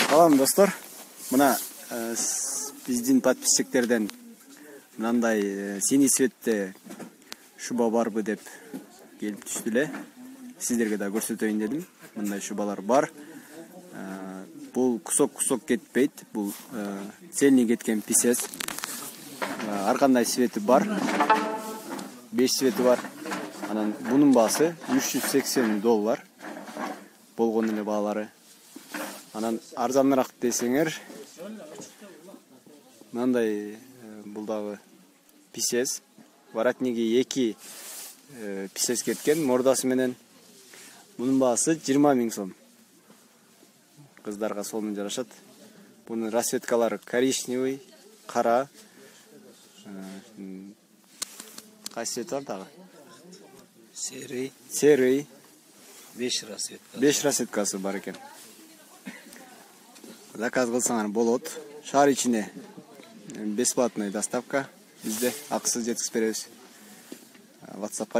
Салам достор. Мына биздин подписчиктерден мындай синий цветте шуба барбы деп келип түштү эле. Сиздерге да көрсөтөйүн дедим. Мындай шубалар бар. Бул кусок кетпейт. Бул цельный кеткен писец. Ар кандай цвети бар. 5 цвети бар. Анан бунун баасы $380. Болгон эле баалары. Анан арзаныраак десеңер, мындай бул дагы писец. Воротниги 2 писец кеткен мордасы менен. Бунун баасы 20 000 сом. Кыздарга сонун жарашат. Бунун расцветкалары коричневый, кара. Кайсы цвет бар дагы? Серый. 5 расцветка. 5 расцветкасы бар экен. Заказ кылсаңар болот. Шаар ичине бесплатная доставка. Бизде акысыз жеткизип беребиз. WhatsApp